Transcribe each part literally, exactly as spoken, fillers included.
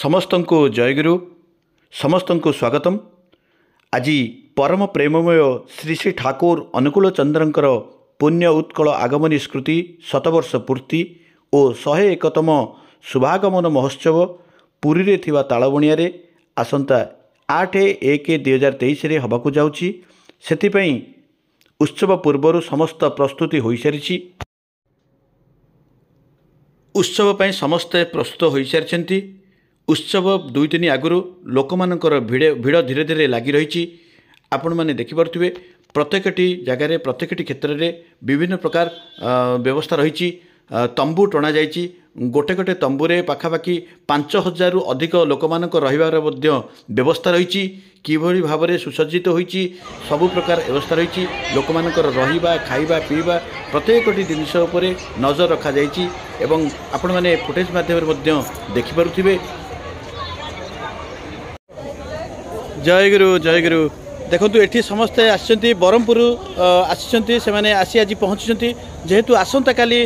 ସମସ୍ତଙ୍କୁ ଜୟଗୁରୁ, ସମସ୍ତଙ୍କୁ ସ୍ୱାଗତମ। ଆଜି ପରମ ପ୍ରେମମୟ ଶ୍ରୀ ଶ୍ରୀ ଠାକୁର ଅନୁକୂଳ ଚନ୍ଦ୍ରଙ୍କର ପୁଣ୍ୟ ଉତ୍କଳ ଆଗମନୀ ସ୍ମୃତି ଶତବର୍ଷ ପୂର୍ତ୍ତି ଓ ଶହେ ଏକତମ ଶୁଭାଗମନ ମହୋତ୍ସବ ପୁରୀରେ ଥିବା ତାଳବଣିଆରେ ଆସନ୍ତା ଆଠ ଏକ ଦୁଇହଜାର ତେଇଶରେ ହେବାକୁ ଯାଉଛି। ସେଥିପାଇଁ ଉତ୍ସବ ପୂର୍ବରୁ ସମସ୍ତ ପ୍ରସ୍ତୁତି ହୋଇସାରିଛି। ଉତ୍ସବ ପାଇଁ ସମସ୍ତେ ପ୍ରସ୍ତୁତ ହୋଇସାରିଛନ୍ତି। ଉତ୍ସବ ଦୁଇ ଦିନ ଆଗରୁ ଲୋକମାନଙ୍କର ଭିଡ଼ ଭିଡ଼ ଧୀରେ ଧୀରେ ଲାଗି ରହିଛି। ଆପଣମାନେ ଦେଖିପାରୁଥିବେ, ପ୍ରତ୍ୟେକଟି ଜାଗାରେ, ପ୍ରତ୍ୟେକଟି କ୍ଷେତ୍ରରେ ବିଭିନ୍ନ ପ୍ରକାର ବ୍ୟବସ୍ଥା ରହିଛି। ତମ୍ବୁ ଟଣାଯାଇଛି। ଗୋଟେ ଗୋଟେ ତମ୍ବୁରେ ପାଖାପାଖି ପାଞ୍ଚ ହଜାରରୁ ଅଧିକ ଲୋକମାନଙ୍କ ରହିବାର ମଧ୍ୟ ବ୍ୟବସ୍ଥା ରହିଛି। କିଭଳି ଭାବରେ ସୁସଜ୍ଜିତ ହୋଇଛି, ସବୁ ପ୍ରକାର ବ୍ୟବସ୍ଥା ରହିଛି। ଲୋକମାନଙ୍କର ରହିବା, ଖାଇବା, ପିଇବା ପ୍ରତ୍ୟେକଟି ଜିନିଷ ଉପରେ ନଜର ରଖାଯାଇଛି ଏବଂ ଆପଣମାନେ ଫୁଟେଜ୍ ମାଧ୍ୟମରେ ମଧ୍ୟ ଦେଖିପାରୁଥିବେ। ଜୟଗୁରୁ, ଜୟଗୁରୁ। ଦେଖନ୍ତୁ, ଏଠି ସମସ୍ତେ ଆସିଛନ୍ତି, ବ୍ରହ୍ମପୁର ଆସିଛନ୍ତି। ସେମାନେ ଆସି ଆଜି ପହଞ୍ଚିଛନ୍ତି। ଯେହେତୁ ଆସନ୍ତାକାଲି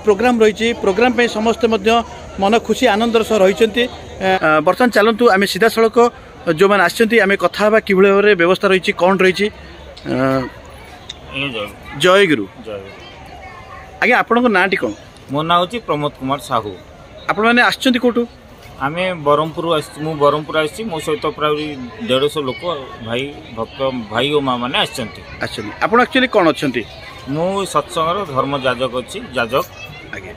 ପ୍ରୋଗ୍ରାମ ରହିଛି, ପ୍ରୋଗ୍ରାମ ପାଇଁ ସମସ୍ତେ ମଧ୍ୟ ମନ ଖୁସି ଆନନ୍ଦର ସହ ରହିଛନ୍ତି। ବର୍ତ୍ତମାନ ଚାଲନ୍ତୁ, ଆମେ ସିଧାସଳଖ ଯେଉଁମାନେ ଆସିଛନ୍ତି ଆମେ କଥା ହେବା, କିଭଳି ଭାବରେ ବ୍ୟବସ୍ଥା ରହିଛି, କ'ଣ ରହିଛି। ଜୟଗୁରୁ ଆଜ୍ଞା, ଆପଣଙ୍କ ନାଁଟି କ'ଣ? ମୋ ନାଁ ହେଉଛି ପ୍ରମୋଦ କୁମାର ସାହୁ। ଆପଣମାନେ ଆସିଛନ୍ତି କେଉଁଠୁ? ଆମେ ବ୍ରହ୍ମପୁର ଆସିଛୁ। ମୁଁ ବ୍ରହ୍ମପୁର ଆସିଛି। ମୋ ସହିତ ପ୍ରାୟ ଦେଢ଼ଶହ ଲୋକ ଭାଇ, ଭକ୍ତ ଭାଇ ଓ ମା ମାନେ ଆସିଛନ୍ତି। ଆସିଛନ୍ତି। ଆପଣ ଆକ୍ଚୁଆଲି କ'ଣ ଅଛନ୍ତି? ମୁଁ ସତ୍ସଙ୍ଗର ଧର୍ମ ଯାଜକ ଅଛି, ଯାଜକ ଆଜ୍ଞା।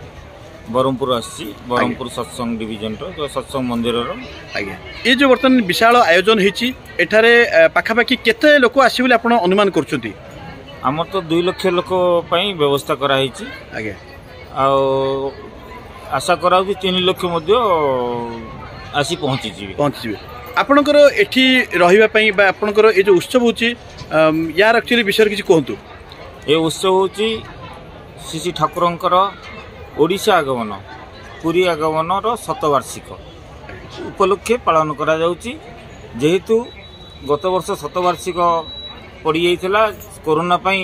ବ୍ରହ୍ମପୁର ଆସିଛି, ବ୍ରହ୍ମପୁର ସତ୍ସଙ୍ଗ ଡିଭିଜନର, ସତ୍ସଙ୍ଗ ମନ୍ଦିରର। ଆଜ୍ଞା, ଏ ଯେଉଁ ବର୍ତ୍ତମାନ ବିଶାଳ ଆୟୋଜନ ହେଇଛି, ଏଠାରେ ପାଖାପାଖି କେତେ ଲୋକ ଆସିବେ ବୋଲି ଆପଣ ଅନୁମାନ କରୁଛନ୍ତି? ଆମର ତ ଦୁଇ ଲକ୍ଷ ଲୋକ ପାଇଁ ବ୍ୟବସ୍ଥା କରାହେଇଛି ଆଜ୍ଞା, ଆଉ ଆଶା କରାଯାଉଛି ତିନି ଲକ୍ଷ ମଧ୍ୟ ଆସି ପହଞ୍ଚିଯିବେ। ପହଞ୍ଚିଯିବେ। ଆପଣଙ୍କର ଏଠି ରହିବା ପାଇଁ ବା ଆପଣଙ୍କର ଏ ଯେଉଁ ଉତ୍ସବ ହେଉଛି, ୟାର ଆକ୍ଚୁଆଲି ବିଷୟରେ କିଛି କୁହନ୍ତୁ। ଏ ଉତ୍ସବ ହେଉଛି ଶ୍ରୀ ଶ୍ରୀ ଠାକୁରଙ୍କର ଓଡ଼ିଶା ଆଗମନ, ପୁରୀ ଆଗମନର ଶତବାର୍ଷିକ ଉପଲକ୍ଷେ ପାଳନ କରାଯାଉଛି। ଯେହେତୁ ଗତ ବର୍ଷ ଶତବାର୍ଷିକ ପଡ଼ିଯାଇଥିଲା, କରୋନା ପାଇଁ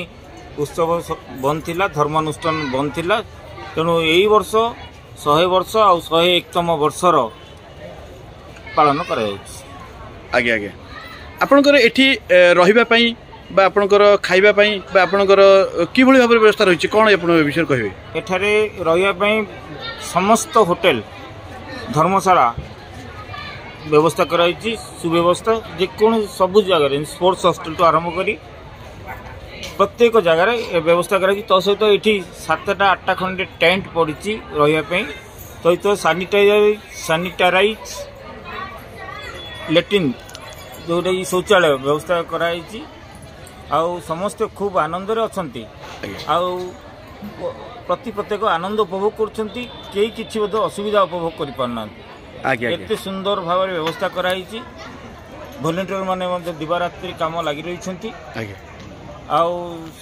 ଉତ୍ସବ ବନ୍ଦ ଥିଲା, ଧର୍ମାନୁଷ୍ଠାନ ବନ୍ଦ ଥିଲା, ତେଣୁ ଏଇ ବର୍ଷ ଶହେ ବର୍ଷ ଆଉ ଶହେ ଏକତମ ବର୍ଷର ପାଳନ କରାଯାଉଛି। ଆଜ୍ଞା ଆଜ୍ଞା, ଆପଣଙ୍କର ଏଠି ରହିବା ପାଇଁ ବା ଆପଣଙ୍କର ଖାଇବା ପାଇଁ ବା ଆପଣଙ୍କର କିଭଳି ଭାବରେ ବ୍ୟବସ୍ଥା ରହିଛି, କ'ଣ ଆପଣ ଏ ବିଷୟରେ କହିବେ? ଏଠାରେ ରହିବା ପାଇଁ ସମସ୍ତ ହୋଟେଲ, ଧର୍ମଶାଳା ବ୍ୟବସ୍ଥା କରାଯାଇଛି, ସୁବ୍ୟବସ୍ଥା। ଯେକୌଣସି ସବୁ ଜାଗାରେ ସ୍ପୋର୍ଟସ୍ ହଷ୍ଟେଲଠୁ ଆରମ୍ଭ କରି ପ୍ରତ୍ୟେକ ଜାଗାରେ ଏ ବ୍ୟବସ୍ଥା କରାଯାଇଛି। ତା ସହିତ ଏଠି ସାତଟା ଆଠଟା ଖଣ୍ଡେ ଟେଣ୍ଟ ପଡ଼ିଛି ରହିବା ପାଇଁ, ସହିତ ସାନିଟାଇଜର, ସାନିଟାରାଇଜ୍ ଲାଟ୍ରିନ୍ ଯେଉଁଟାକି ଶୌଚାଳୟ ବ୍ୟବସ୍ଥା କରାଯାଇଛି। ଆଉ ସମସ୍ତେ ଖୁବ୍ ଆନନ୍ଦରେ ଅଛନ୍ତି ଆଉ ପ୍ରତି ପ୍ରତ୍ୟେକ ଆନନ୍ଦ ଉପଭୋଗ କରୁଛନ୍ତି। କେହି କିଛି ମଧ୍ୟ ଅସୁବିଧା ଉପଭୋଗ କରିପାରୁନାହାନ୍ତି। ଏତେ ସୁନ୍ଦର ଭାବରେ ବ୍ୟବସ୍ଥା କରାହେଇଛି। ଭଲେଣ୍ଟିୟର ମାନେ ମଧ୍ୟ ଦିବାରାତ୍ରି କାମ ଲାଗି ରହିଛନ୍ତି ଆଉ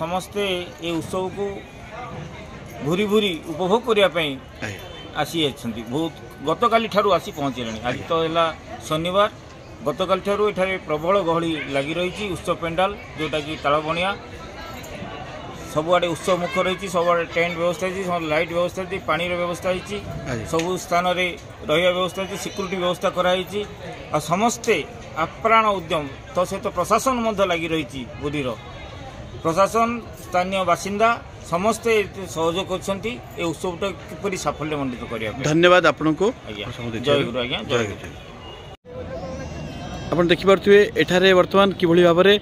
ସମସ୍ତେ ଏ ଉତ୍ସବକୁ ଘୁରି ଘୁରି ଉପଭୋଗ କରିବା ପାଇଁ ଆସିଯାଇଛନ୍ତି। ବହୁତ ଗତକାଲି ଠାରୁ ଆସି ପହଞ୍ଚିଲେଣି। ଆଜି ତ ହେଲା ଶନିବାର। ଗତକାଲି ଠାରୁ ଏଠାରେ ପ୍ରବଳ ଗହଳି ଲାଗି ରହିଛି। ଉତ୍ସବ ପେଣ୍ଡାଲ ଯେଉଁଟାକି ତାଳବଣିଆ, ସବୁଆଡ଼େ ଉତ୍ସବ ମୁଖ ରହିଛି। ସବୁଆଡ଼େ ଟେଣ୍ଟ ବ୍ୟବସ୍ଥା ହେଇଛି, ଲାଇଟ୍ ବ୍ୟବସ୍ଥା ହେଇଛି, ପାଣିର ବ୍ୟବସ୍ଥା ହେଇଛି, ସବୁ ସ୍ଥାନରେ ରହିବା ବ୍ୟବସ୍ଥା ହେଇଛି, ସିକ୍ୟୁରିଟି ବ୍ୟବସ୍ଥା କରାହେଇଛି ଆଉ ସମସ୍ତେ ଆପ୍ରାଣ ଉଦ୍ୟମ। ତା ସହିତ ପ୍ରଶାସନ ମଧ୍ୟ ଲାଗି ରହିଛି। ପୁରୀର ପ୍ରଶାସନ, ସ୍ଥାନୀୟ ବାସିନ୍ଦା ସମସ୍ତେ ସହଯୋଗ କରୁଛନ୍ତି ଏ ଉତ୍ସବଟା କିପରି ସାଫଲ୍ୟ ମଣ୍ଡିତ କରିବା ପାଇଁ। ଧନ୍ୟବାଦ ଆପଣଙ୍କୁ। ଆଜ୍ଞା, ଜୟ ଗୁରୁ ଆଜ୍ଞା, ଜୟ ଗୁରୁ। ଆପଣ ଦେଖିପାରୁଥିବେ, ଏଠାରେ ବର୍ତ୍ତମାନ କିଭଳି ଭାବରେ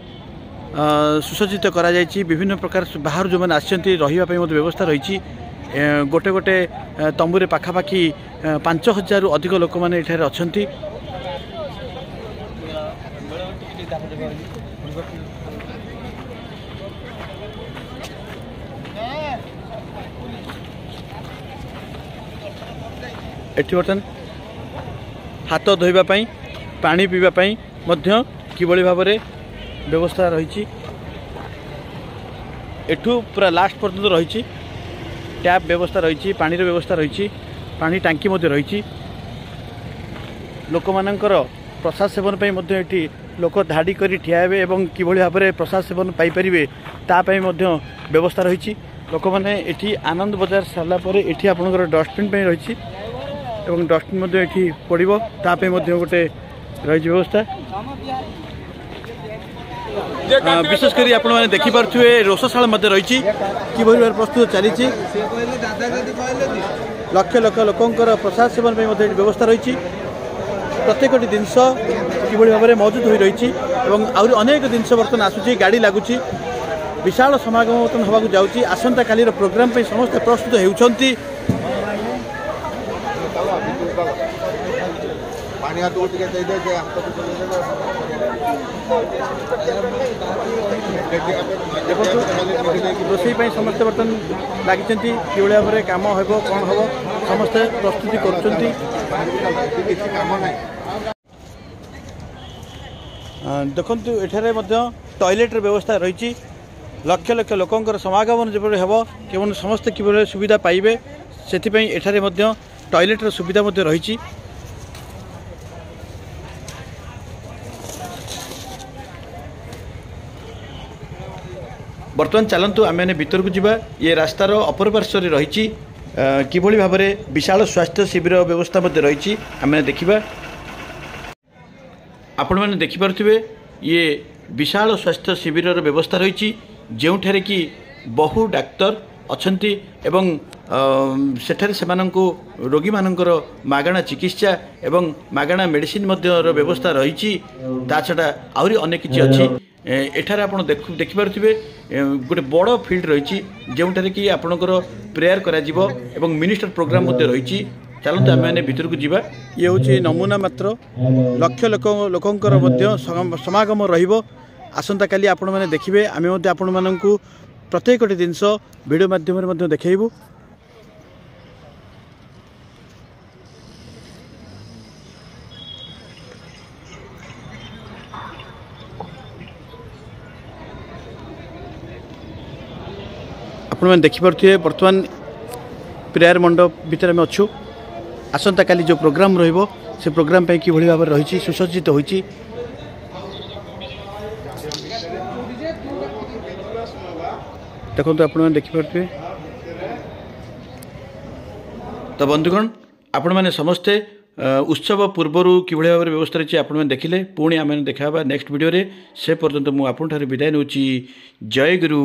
ସୁସଜ୍ଜିତ କରାଯାଇଛି। ବିଭିନ୍ନ ପ୍ରକାର ବାହାରୁ ଯେଉଁମାନେ ଆସିଛନ୍ତି, ରହିବା ପାଇଁ ମଧ୍ୟ ବ୍ୟବସ୍ଥା ରହିଛି। ଗୋଟେ ଗୋଟେ ତମ୍ବୁରେ ପାଖାପାଖି ପାଞ୍ଚ ହଜାରରୁ ଅଧିକ ଲୋକମାନେ ଏଠାରେ ଅଛନ୍ତି। ଏଠି ବର୍ତ୍ତମାନ ହାତ ଧୋଇବା ପାଇଁ, ପାଣି ପିଇବା ପାଇଁ ମଧ୍ୟ କିଭଳି ଭାବରେ ବ୍ୟବସ୍ଥା ରହିଛି। ଏଠୁ ପୁରା ଲାଷ୍ଟ ପର୍ଯ୍ୟନ୍ତ ରହିଛି। ଟ୍ୟାପ୍ ବ୍ୟବସ୍ଥା ରହିଛି, ପାଣିର ବ୍ୟବସ୍ଥା ରହିଛି, ପାଣି ଟାଙ୍କି ମଧ୍ୟ ରହିଛି। ଲୋକମାନଙ୍କର ପ୍ରସାଦ ସେବନ ପାଇଁ ମଧ୍ୟ ଏଠି ଲୋକ ଧାଡ଼ି କରି ଠିଆ ହେବେ ଏବଂ କିଭଳି ଭାବରେ ପ୍ରସାଦ ସେବନ ପାଇପାରିବେ ତା ପାଇଁ ମଧ୍ୟ ବ୍ୟବସ୍ଥା ରହିଛି। ଲୋକମାନେ ଏଠି ଆନନ୍ଦ ବଜାର ସାରିଲା ପରେ ଏଠି ଆପଣଙ୍କର ଡଷ୍ଟବିନ୍ ପାଇଁ ରହିଛି। ଏବଂ ଡଷ୍ଟବିନ୍ ମଧ୍ୟ ଏଠି ପଡ଼ିବ, ତା ପାଇଁ ମଧ୍ୟ ଗୋଟେ ରହିଛି ବ୍ୟବସ୍ଥା। ବିଶେଷ କରି ଆପଣମାନେ ଦେଖିପାରୁଥିବେ ରୋଷଶାଳା ମଧ୍ୟ ରହିଛି, କିଭଳି ଭାବରେ ପ୍ରସ୍ତୁତ ଚାଲିଛି। ଲକ୍ଷ ଲକ୍ଷ ଲୋକଙ୍କର ପ୍ରସାଦ ସେବନ ପାଇଁ ମଧ୍ୟ ଏଠି ବ୍ୟବସ୍ଥା ରହିଛି। ପ୍ରତ୍ୟେକଟି ଜିନିଷ କିଭଳି ଭାବରେ ମହଜୁଦ ହୋଇ ରହିଛି ଏବଂ ଆହୁରି ଅନେକ ଜିନିଷ ବର୍ତ୍ତମାନ ଆସୁଛି, ଗାଡ଼ି ଲାଗୁଛି, ବିଶାଳ ସମାଗମ ବର୍ତ୍ତମାନ ହେବାକୁ ଯାଉଛି। ଆସନ୍ତାକାଲିର ପ୍ରୋଗ୍ରାମ ପାଇଁ ସମସ୍ତେ ପ୍ରସ୍ତୁତ ହେଉଛନ୍ତି। ଦେଖନ୍ତୁ ରୋଷେଇ ପାଇଁ ସମସ୍ତେ ବର୍ତ୍ତମାନ ଲାଗିଛନ୍ତି, କିଭଳି ଭାବରେ କାମ ହେବ କ'ଣ ହେବ ସମସ୍ତେ ପ୍ରସ୍ତୁତି କରୁଛନ୍ତି। ଦେଖନ୍ତୁ ଏଠାରେ ମଧ୍ୟ ଟଏଲେଟ୍ର ବ୍ୟବସ୍ଥା ରହିଛି। ଲକ୍ଷ ଲକ୍ଷ ଲୋକଙ୍କର ସମାଗମନ ଯେପରି ହେବ, କେବଳ ସମସ୍ତେ କିଭଳି ସୁବିଧା ପାଇବେ ସେଥିପାଇଁ ଏଠାରେ ମଧ୍ୟ ଟଏଲେଟ୍ର ସୁବିଧା ମଧ୍ୟ ରହିଛି। ବର୍ତ୍ତମାନ ଚାଲନ୍ତୁ ଆମେମାନେ ଭିତରକୁ ଯିବା। ଇଏ ରାସ୍ତାର ଅପର ପାର୍ଶ୍ୱରେ ରହିଛି କିଭଳି ଭାବରେ ବିଶାଳ ସ୍ୱାସ୍ଥ୍ୟ ଶିବିର ବ୍ୟବସ୍ଥା ମଧ୍ୟ ରହିଛି, ଆମେ ଦେଖିବା। ଆପଣମାନେ ଦେଖିପାରୁଥିବେ ଇଏ ବିଶାଳ ସ୍ୱାସ୍ଥ୍ୟ ଶିବିରର ବ୍ୟବସ୍ଥା ରହିଛି, ଯେଉଁଠାରେ କି ବହୁ ଡାକ୍ତର ଅଛନ୍ତି ଏବଂ ସେଠାରେ ସେମାନଙ୍କୁ ରୋଗୀମାନଙ୍କର ମାଗଣା ଚିକିତ୍ସା ଏବଂ ମାଗଣା ମେଡ଼ିସିନ ମଧ୍ୟର ବ୍ୟବସ୍ଥା ରହିଛି। ତା ଛଡ଼ା ଆହୁରି ଅନେକ କିଛି ଅଛି। ଏଠାରେ ଆପଣ ଦେଖୁ ଦେଖିପାରୁଥିବେ ଗୋଟେ ବଡ଼ ଫିଲ୍ଡ ରହିଛି, ଯେଉଁଠାରେ କି ଆପଣଙ୍କର ପ୍ରେୟାର କରାଯିବ ଏବଂ ମିନିଷ୍ଟର ପ୍ରୋଗ୍ରାମ ମଧ୍ୟ ରହିଛି। ଚାଲନ୍ତୁ ଆମେମାନେ ଭିତରକୁ ଯିବା। ଇଏ ହେଉଛି ନମୁନା ମାତ୍ର, ଲକ୍ଷ ଲୋକ ଲୋକଙ୍କର ମଧ୍ୟ ସମାଗମ ରହିବ ଆସନ୍ତାକାଲି। ଆପଣମାନେ ଦେଖିବେ, ଆମେ ମଧ୍ୟ ଆପଣମାନଙ୍କୁ ପ୍ରତ୍ୟେକଟି ଜିନିଷ ଭିଡ଼ିଓ ମାଧ୍ୟମରେ ମଧ୍ୟ ଦେଖାଇବୁ। ଆପଣମାନେ ଦେଖିପାରୁଥିବେ ବର୍ତ୍ତମାନ ପ୍ରେୟାର ମଣ୍ଡପ ଭିତରେ ଆମେ ଅଛୁ। ଆସନ୍ତାକାଲି ଯେଉଁ ପ୍ରୋଗ୍ରାମ ରହିବ ସେ ପ୍ରୋଗ୍ରାମ ପାଇଁ କିଭଳି ଭାବରେ ରହିଛି, ସୁସଜ୍ଜିତ ହୋଇଛି। ଦେଖନ୍ତୁ ଆପଣମାନେ ଦେଖିପାରୁଥିବେ। ତ ବନ୍ଧୁଗଣ, ଆପଣମାନେ ସମସ୍ତେ ଉତ୍ସବ ପୂର୍ବରୁ କିଭଳି ଭାବରେ ବ୍ୟବସ୍ଥା ରହିଛି ଆପଣମାନେ ଦେଖିଲେ। ପୁଣି ଆମେ ଦେଖା ହେବା ନେକ୍ସଟ ଭିଡ଼ିଓରେ। ସେ ପର୍ଯ୍ୟନ୍ତ ମୁଁ ଆପଣଙ୍କଠାରୁ ବିଦାୟ ନେଉଛି। ଜୟ ଗୁରୁ।